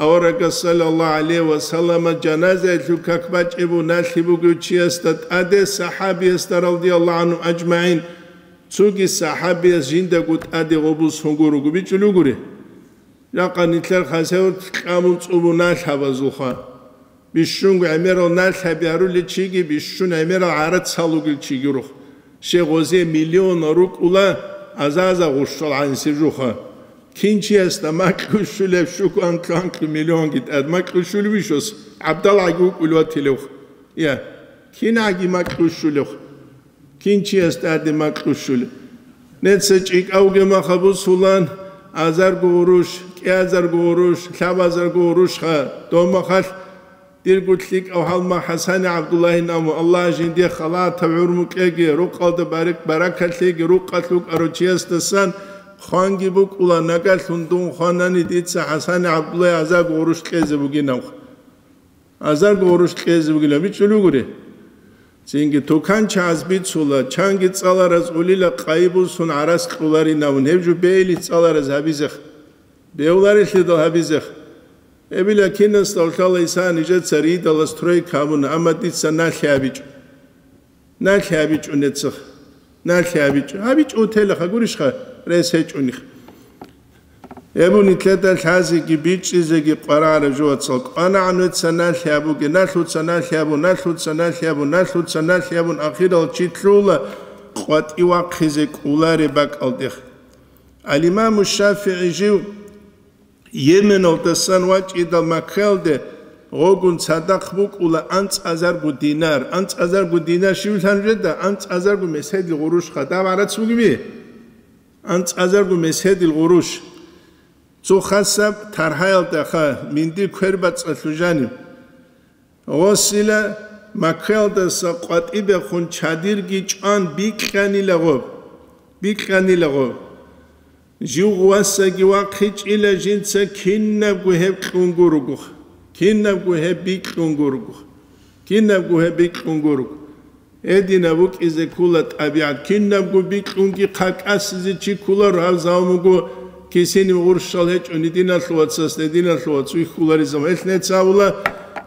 аварагас саллаллагьу гӀалайгьи ва саллама жаназаялъул как бачӀебу налъи бугев чиясда тӀаде, сахӀабиясда, радияллагьу гӀангьум ажмагӀин, Цоги сахӀабияс жиндаго тӀаде гъобус гьунгуруго бичӀчӀулугури. Жакъа нилъер хасават кьабун цӀубу налъабазулха. Бищунго гӀемерал налъаби гьарулел чиги, бищун гӀемерал гӀарац гьалугел чиги рух. Ще гъозе миллион рукӀула азаза гъущал гӀанисеб жуха. Кин чиясда макьу щулеб щуго анкьу-анкьу миллионги тӀад макьу щулеб ишос? ГӀабдалгӀаги вукӀулев ватилевх. Я, кинагӀаги макьу щулевх. Кин чияс тӀаде макьу щулеб? Неца чӀикӀавге маха бусулан, азарго гъуруш, кӀиазарго гъуруш, лъабазарго гъурушха, дов махалъ дирго лъикӀав гьалма ХӀасани ГӀабдуллагьин абун, Аллагь жинде халатаб гӀумру кьеги, рукъалда барак-, баракат лъеги, рукъалъ вукӀарав чиясдасан хъванги букӀула, нагагьлъун дун хванани дица ХӀасани ГӀабдуллагьи азарго гъуруш кьезе бугинавха. Азарго гъуруш кьезе бугила бичӀчӀулугури. Цинги туканчагӀаз бицула, чанги цӀалараз улила къайи бусун гӀарац кьуларинавун, гьеб жо бейли цӀалараз гьабизех. Бевларелъидал гьабизех. Гьебила кинасда лъала Иса нижеца ридала стройка гьабуна, амма дица налъи гьабичӀо. Налъи гьабичӀо нецаха. Налъи гьабичӀо. ГьабичӀо утелаха, гурищха, рес гьечӀониха. Гьеб нилъеда лъазеги бичӀчӀизеги къварагӀараб жо, вацал. КӀванагӀан веца налъи гьабуге, налъуца налъи гьабун, налъуца налъи гьабун, налъуца налъи гьабун, ахирал чи лъугьула къватӀив вахъизе кӀолареб бакӀалдех. Ал-Имаму ШафигӀи жив Йеменалдасан вачӀидал Маккаялде гъогун цадахъ букӀула анцӀазарго динар. АнцӀазарго динар щивлъан жеда? АнцӀазарго меседил гъурущха. Даб гӀарац бугеби? АнцӀазарго меседил гъурущ. Цо хасаб таргьаялдаха минди квербацӀцӀалъу жанив. Гъосила Маккаялдаса къватӀибехун чадирги чӀван бикьанила гъоб. Бикьанила гъоб. Жив гъувасаги вахъичӀила жинца кинабго гьеб кьун гургуха. Кинабго гьеб бикьун гургуха. Кинабго гьеб бикьун гургу. Гьединаб букӀизе ккула тӀабигӀат. Кинабго бикьунги хъа кӀасизе чи кколаро, гьав заман буго кисинив гъурщал гьечӀони, диналъул вацас, диналъул вац вихьуларизаб. Гьелъ нецавула,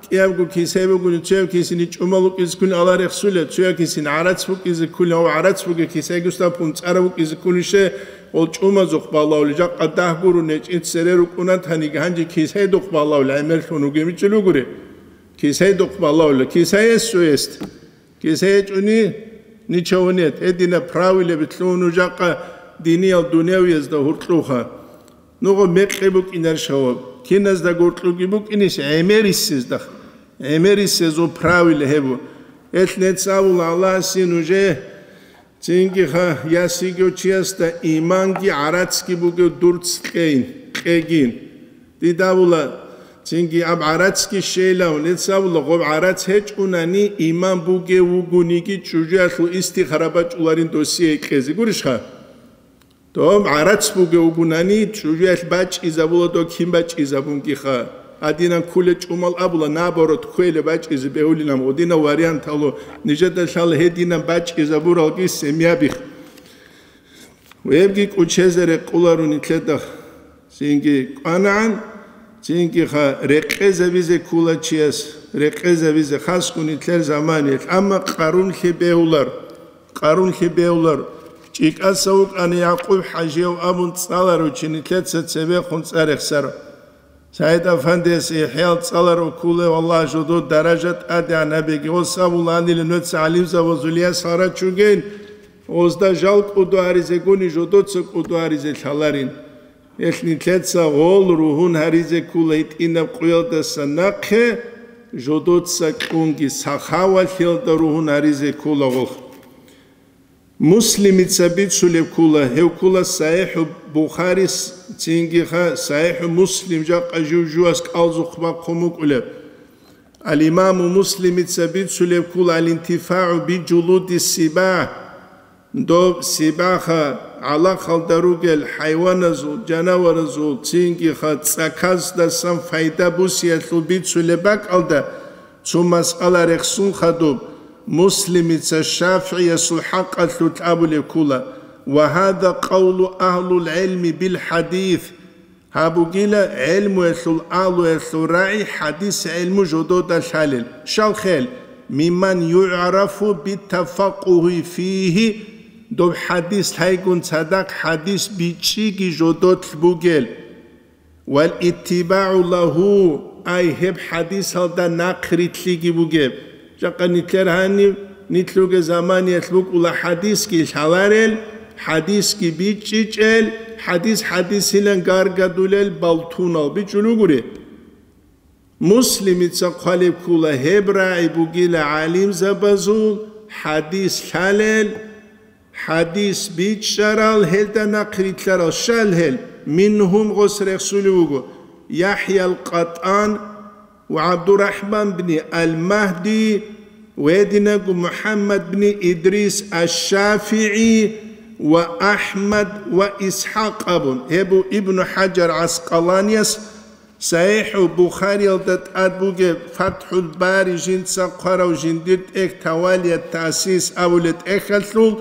кӀиябго кисай бугони, цояб кисини чӀумал букӀизе ккуни ала рехсула, цояб кисини гӀарац букӀизе ккуни, гьав гӀарац бугеб кисайги устапун цӀараб букӀизе ккунищ, гъол чӀумазухъ балавли, жакъа дагь гуро нечӀин цере рукӀуна таниги, гьанже кисайдухъ балавли гӀемерлъун вугеб ичӀел вугури. Кисайдухъ балавли, кисай эс цо эст. Киса гьечӀони, ничего нет, гьединаб правилаби лъугьун нуж жакъа диниял дунявиязда гьуркьуха. Нугъа мекъи букӀинар шаваб, киназда гуркьуги букӀинищ гӀемерисездах. ГӀемерисезул правила гьебу. Гьелъ нецавула Аллагьасе нужее, цинги ха, ясиго чиясда иманги гӀарацги бугев дурц кьейин, кьегин. Дидавула, цинги аб гӀарацги щейилан, нецавула гъоб гӀарац гьечӀунани, иман бугев вугониги чӀужуялъул истихара бачӀуларин досие кьезе. Гурищха? Доб гӀарац бугев вугунани, чӀужуялъ бачӀизабула доб кин бачӀизабунгиха. Гьадинан кколел чӀумал абула, наоборот, кквелеб бачӀизе бегьулинан, гъодинав варианталу, нижеда лъала гьединан бачӀизабуралги семьябих. Гьебги кӀучезе рекъуларо нилъеда. Цинги кӀванагӀан, цинги ха рекъезабизе ккула чияс, рекъезабизе хасго нилъер заманиялъ. Амма къарунлъи бегьулар, къарунлъи бегьулар. ЧӀикӀаса вукӀана Якъуб-хӀажияв абун цӀаларав чи нилъеца цебехун цӀа рехсаро. СагӀид-афандияс ихӀял цӀаларав кколев, Аллагь, жодо даража тӀадегӀан гьабеги, гъос абуланила нуца гӀалимзабазулияс гьарачугейин, гъозда жал кӀудо гьаризегуни жодоца кӀудо гьаризе лъаларин. Гьелъ нилъеца гъол ругьун гьаризе ккола гьитӀинаб къуялдаса нахъе, жодоца кьунги сахавалъиялда ругьун гьаризе ккола гъолъ. Муслимица бицулеб ккула, гьев ккула СахӀихӀу Бухарис, цинги ха СахӀихӀу Муслим жакъа жив-жувас кӀалзухъ бахъун букӀулеб. Ал-Имаму Муслимица бицулеб ккула: «Ал-интифагӀу би жулуди сибагь», доб сибагьха, гӀалахалда ругел хӀайваназул, жанаваразул, цинги ха цӀаказдасан пайда бусиялъул бицулеб бакӀалда, цо масъала рехсун хадуб, Муслимица ШафигӀиясул хӀакъалъулъ абулеб ккула: «Ва гьаза къавлу агьлул гӀилми бил хӀадис». Гьаб бугила гӀелмуялъул агьлуялъул рагӀи хӀадис гӀелму жодода лъалел. Щал хел, мимман югӀрафу битафаккугьи фигьи, доб хӀадис лъайгун цадахъ хӀадис бичӀчӀиги жодолъ бугел. Вал иттибагӀу лагьу, ай гьеб хӀадисалда нахърилълъиги бугеб. Жакъа нилъер гьанив, нилъуге заманиялъ букӀула хӀадисги лъаларел, хӀадисги бичӀчӀичӀел, хӀадис хӀадисилан гаргадулел балтунал бичӀчӀулугури. Муслимица хъвалеб ккула гьеб рагӀи бугила гӀалимзабазул хӀадис лъалел, хӀадис бичӀчӀарал, гьелда нахърилълъарал. Щал гьел, мингьум гъос рехсулев вуго ЯхӀял КъатӀан ва ГӀабдурахӀман бни Ал-Магьди ва гьединабго МухӀаммад бни Идрис Аш-ШафигӀи ва АхӀмад ва ИсхӀакъ абун. Гьеб буго Ибну ХӀажар ГӀаскъаланияс СахӀихӀу Бухариялда тӀад бугеб ФатхӀул Бари жинца хъварав жиндир тӀехь Тавалият Таъсис абулеб тӀехьалъул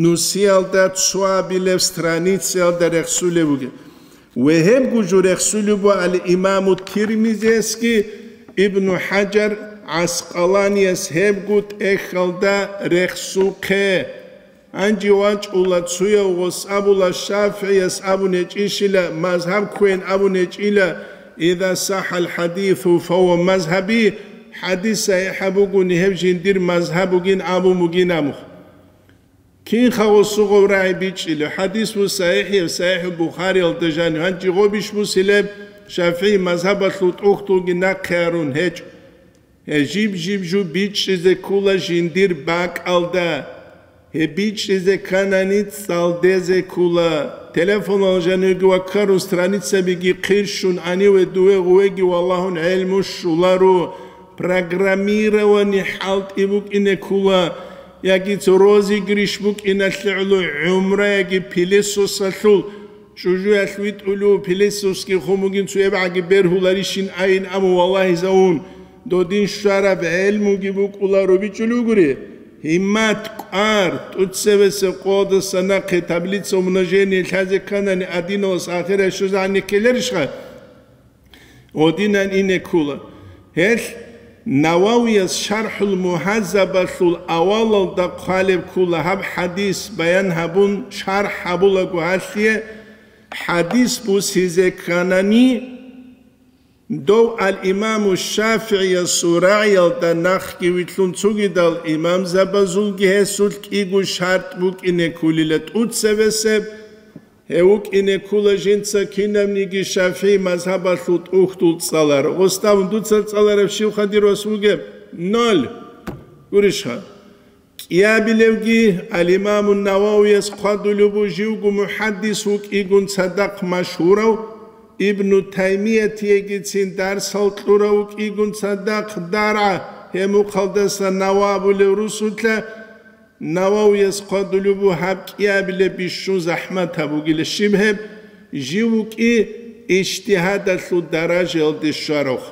нусиялда цоабилеб страницаялда рехсулеб бугеб. Ва гьебго жо рехсулеб буго ал-Имаму Тирмизиясги, Ибну ХӀажар ГӀаскъаланияс гьебго тӀехьалда рехсухъе. Гьанже вачӀула цуяв гъос абула, ШафигӀияс абун гьечӀищила, мазгьаб кквейин абун гьечӀила, иза сахӀал хӀадису, фагьуа мазгьаби, хӀадис сахӀихӀаб бугони, гьеб жиндир мазгьаб бугин абун бугин абухъ. Кинха гъосугъав рагӀи бичӀчӀила, хӀадис бу сахӀихӀ, сахӀихӀул Бухариялда жанив, гьанже гъобищ бусилеб, ШафигӀи мазгьабалъул тӀухьдулги нахъе гьарун гьечӀо. Гьеб жиб-жиб жо бичӀчӀизе ккола жиндир бакӀалда. Гьеб бичӀчӀизе кканани, цӀалдезе ккола. Телефонал жанивги ваккарун страницабиги хъирщун, гьаниве дуве гъувеги валагьун гӀелму щоларо. Программирование хӀалтӀи букӀине ккола, яги цо розыгрыш букӀиналъе гӀоло, гӀумра яги пилесосалъул. Чужуялъ витӀулев пилесосги хъумугин цуябгӀаги бергьуларищин айин абун валагьизавун, додин щвараб гӀелмуги букӀуларо бичӀчӀулев гури. Гьиммат, кӀвар, тӀуцевесеб къодаса нахъе таблица умножения лъазе кканани, адиналас ахирай щвезегӀан ккеларищха? Гъодинан ине ккула. Гьелъ Нававияс ШархӀул Мугьаззабалъул авалалда хъвалеб ккула, гьаб хӀадис баян гьабун, шархӀ гьабулаго гьалъие, хӀадис бусизе кканани, дов ал-Имаму ШафигӀиясул рагӀиялда нахъги вилълъун цугидал имамзабазулги гьесулъ кӀиго шартӀ букӀине ккулила тӀуцебесеб, гьев вукӀине ккула жинца кинабниги ШафигӀи мазгьабалъул тӀухьдул цӀаларав. Гъосдавун дуца цӀаларав щивха дир вас вугеб? Ноль. Гурищха? КӀиабилевги, ал-Имаму Нававияс хъвадулеб бу, живго мухӀаддис вукӀигун цадахъ машгьурав, Ибну Таймиятиягицин дарсал кьурав вукӀигун цадахъ даргӀа, гьеб мухъалдаса Нава абулев русулъа, Нававияс хъвадулеб бу гьаб кӀиабилеб бищун захӀмат гьабугила, щиб гьеб, жив вукӀи ижтигьадалъул даражаялде щварав.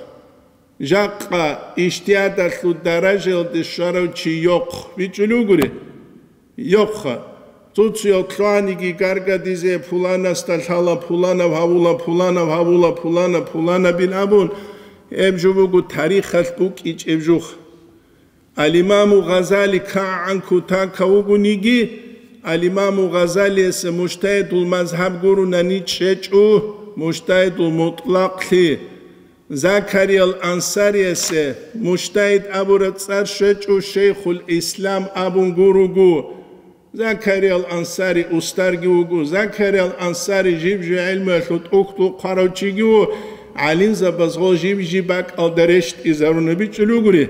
Жакъа ижтигьадалъул даражаялде щварав чи йохъ, бичӀчӀулев гури? Йохъа. Цо-цоял лъугьаниги гаргадизе, пуланасда лъала, пуланав гьавула, пуланав гьавула, пуланаб, пуланабин абун, гьеб жо буго тарихалъ букӀичӀеб жух. Ал-Имаму Гъазали кагӀан кутака вугониги, Ал-Имаму Гъазалиясе мужтагьидул мазгьаб гурунани чӀечӀо, мужтагьидул мутӀлакълъи. Закариял Ансариясе мужтагьид абураб цӀар щвечӀо, Шейхул Ислам абун гуруго. Закариял Ансари устарги вуго. Закариял Ансари жиб-жиб гӀелмуялъул тӀухьдул хъварав чиги ву, гӀалимзабаз гъо жиб-жиб бакӀалда рещтӀизаруна бичӀчӀулев гури.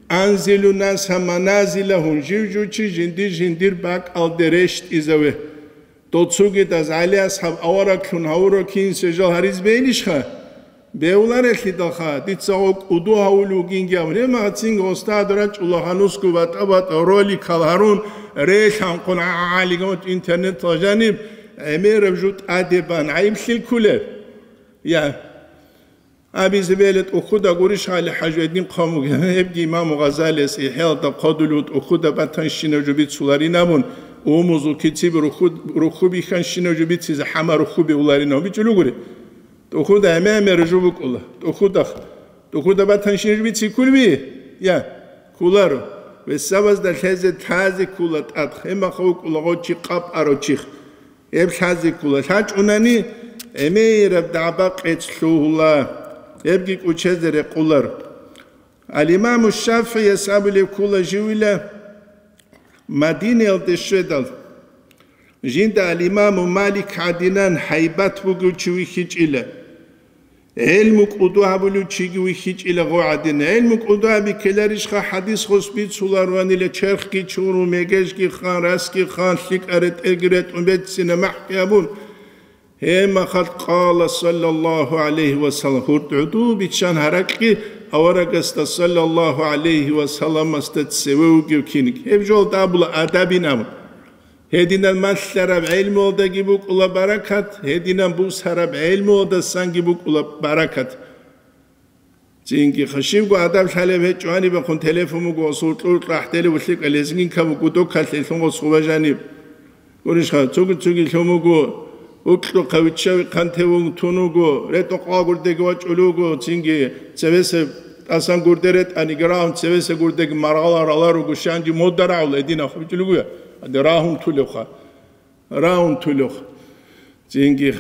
Анзилу наса маназилагьум, жив-жив чи жиндир-жиндир бакӀалде рещтӀизаве. Дов цугидаз ГӀали асхӀаб авараглъун гьавурав кинсе жал гьариз бейилищха? Бевларелъидалха, дица гъо кӀуду гьавулев вугинги абун, гьеб магӀацинги устад рачӀула гьанусго батӀа-батӀа роликал гьарун, релъанхъун гӀалигамут интернетал жаниб гӀемераб жо тӀаде бан гӀайиблъи кколеб? Я. Абизе бегьула тӀухьуда гурищ гьали хӀажу гьедин хъван бугеб, гьебги имаму Гъазалияс ИхӀяалда хъвадулев тӀухьуда батанщинаб жо бицуларин абун, умузул кициб рухьу-, рухьу бихьанщинаб жо бицизе хӀама рухьу бевларин абун бичӀчӀулев гури. ТӀухьуда гӀемер-гӀемер жо букӀула. ТӀухьуда, тӀухьуда батанщинаб жо бици кколеби? Я, кколаро. Весабазда лъезе лъазе ккола тӀад, гьебмахъ вукӀула гъо чи къапӀарав чих. Гьеб лъазе ккола. ЛъачӀунани гӀемераб дагӀба-къец лъугьула, гьебги кӀучезе рекъолар. Ал-Имаму ШафигӀияс абулеб ккола живила, Мадинаялде щведал, жинда ал-Имаму Малик гӀадинан гьайбат бугев чи вихьичӀила. ГӀелму кӀуду гьабулев чиги вихьичӀила гъо гӀадин. ГӀелму кӀуду гьаби ккеларищха? ХӀадис гъос бицуларуанила, черхги чурун, мегежги хан, расги хан, лъикӀа ретӀелги ретӀун, беццина махӀги гьабун. Гьебмахалъ къала саллаллагьу гӀалайгьи ва саллам, гьурд гӀуду биччан гьаракьги аварагасда саллаллагьу гӀалайгьи ва салламасда цеве вугев киниг. Гьеб жолда абула адабин абун. Гьединан малъараб гӀелмуялдаги букӀула баракат, гьединан бусараб гӀелмуялдасанги букӀула баракат. Цинги хашивго адаб лъалеб гьечӀо гьанибехун телефон буго, гъосул кьуркьа ахӀделев лъикӀа лезгинка буго, докалъе лъун гъос хъуба жаниб. Гурищха, цуги-цуги лъун буго, укьлу хъавиччави хъантевун тун вуго, ретӀун къвагурдеги вачӀулев вуго, цинги цевесеб ТӀасан гурде ретӀани, рагьун цевеса гурдеги маргъала рала руго, щанги мода рагьула гьединаб хъубичӀулгуя, гьаде рагьун тулевха. Рагьун тулев. Цинги.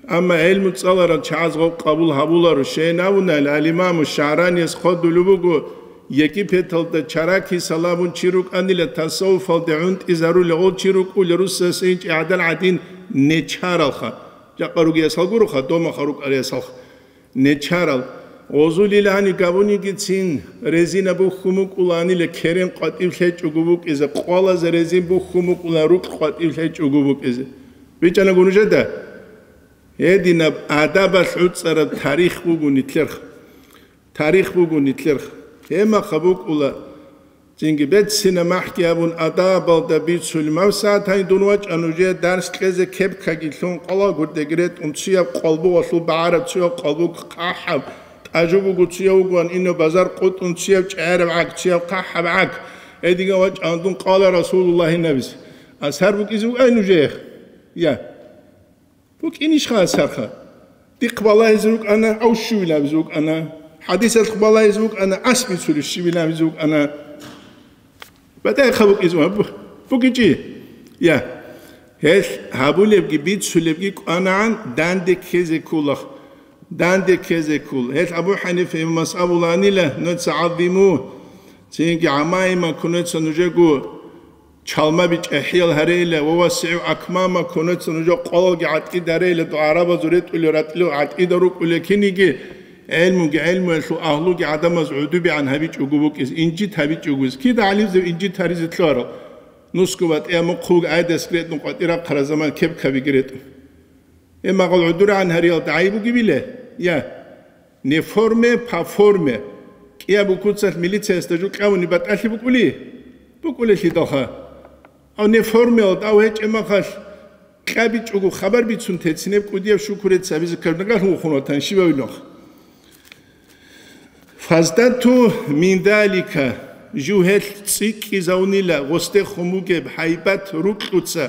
Амма гӀелму цӀаларал чагӀаз гъоб къабул гьабуларо. Щайин абунайилан, ал-Имаму ШагӀранияс хъвадулеб буго, Египеталда чараки саламун чи рукӀанила тасаввуфалде гӀунтӀизарулев гъол чи рукӀула русасейин чӀегӀдал гӀадин нечаралха. Жакъа ругеясал гуроха, домаха рукӀариясалха. Нечарал. Гъозулил гьани габунигицин резина бухьун букӀуланила керен къватӀив лъечӀого букӀизе, къвалазе резин бухьун букӀулан рукь къватӀив лъечӀого букӀизе. БичӀанагун нужеда? Гьединаб адабалъ гӀуцӀараб тарих буго нилъерха. Тарих буго нилъерха. Гьемаха букӀула. Цинги беццина махӀги абун адабалда бицулеб. Мавсагьат гьанив дун вачӀа нужее дарс кьезе кепкаги лъун, къвалал гурдеги ретӀун, цуяб къвалбугъалъул багӀараб, цуяб къвалбуг хъахӀаб, тӀажу буго, цуяв вугоан инев базар къутӀун, цуяб чӀегӀераб гӀаг, цуяб хъахӀаб гӀаг. Гьедиган вачӀана дун, къала Расулуллагьи набис. Асар букӀизе вугай нужее? Я. БукӀинищха асарха? Дихъ балагьизе рукӀана, ав щивилабизе вукӀана. ХӀадисалъ балагьизе вукӀана, ас бицулев щивилабизе вукӀана. БатӀахъа букӀизе ва бу-, букӀичӀи. Я. Гьелъ гьабулебги бицулебги кӀванагӀан данде ккезе ккула. Данде ккезе ккула. Гьелъ Абу ХӀанифа имамас абуланила, нуца гӀазиму, цинги гӀамаима кунеца нужего Чалмаби чӀахӀиял гьарейила ва васигӀу акмама, конеца нужер къвалалги гӀатӀид гьарейила, дугӀарабазул ретӀулел ратӀлил гӀатӀида рукӀулел киниги, гӀелмуги гӀелмуялъул агьлуги гӀадамаз гӀудубигӀан гьабичӀого букӀиз, инжит гьабичӀого. Кида гӀалимзаб инжит гьаризе лъугьарал? Нусго батӀияб мухъ вуго гӀайдас ретӀун къватӀир рахъараб заман кепкабиги ретӀун. Гьеб магъал гӀудургӀан гьариялда гӀайиб бугебила? Я. Не в форме, по форме. КӀияб букуцалъ милициясда жо кьавуни батӀалъи букӀули? БукӀулелъидалха. Ав не формеялда, ав гьечӀеб махалъ кьабичӀого хабар бицун тецинеб кӀудияб шукуреца абизе ккараб нагалъун вухун ватан щибавиланха. Фаздату мин далика, жугьелъ цӀикӀкӀизавунила гъосдехун бугеб гьайбат рукьуца.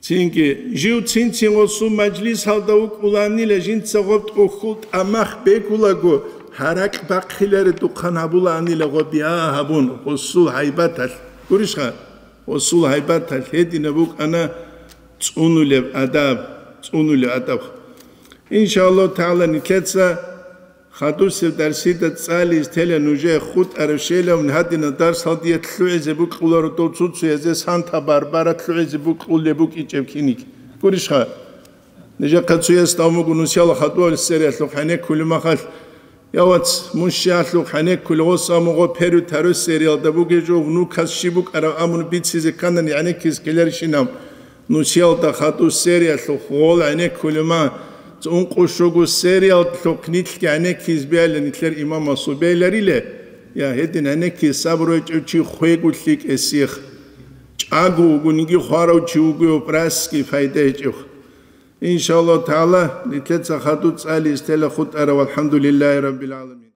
Цинги, жив цин-цин гъосул мажлисалда вукӀуланила, жинца гъоб тӀухьул тӀамах бегулаго, гьаракь бахъиларедухъан гьабулаанила гъоб я гьабун, гъосул гьайбаталъ. Гурищха? Гъосул гьайбаталъ гьединаб букӀана цӀунулеб адаб, цӀунулеб адаб. Иншааллагьу тагӀала, нилъеца Хадусеб дарсида цӀализ тела нужее хутӀарав щелав гьадинаб дарсал дие лъугӀизе букьуларо дов цуцуязе Санта-Барбара лъугӀизе букьулеб букӀичӀеб киник. Гурищха? Нижехъа цуяс давмугу нусияла хадуал сериялъухъ гӀенеккулеб махалъ, я вац, мун щиялъухъ гӀенеккулев гъос амугъо перу тару сериялда бугеб жо внукас щиб букӀараб амун бицизе кканани гӀенеккиз ккеларищинаб? Нусиялда хадур сериялъухъ гъол гӀенеккулема, цӀункъу щугу сериялъухъ нилъги гӀенеккиз бегьила нилъер имамасул бегьилариле? Я, гьедин гӀенеккиз сабру гьечӀев чи хвего лъикӀесих. ЧӀаго вугониги хварав чи вугев прасги пайда гьечӀев. Иншаллагьу тагӀала, нилъеца хадур цӀализ тела хутӀарав, валхӀамдулиллагьи раббил гӀаламин.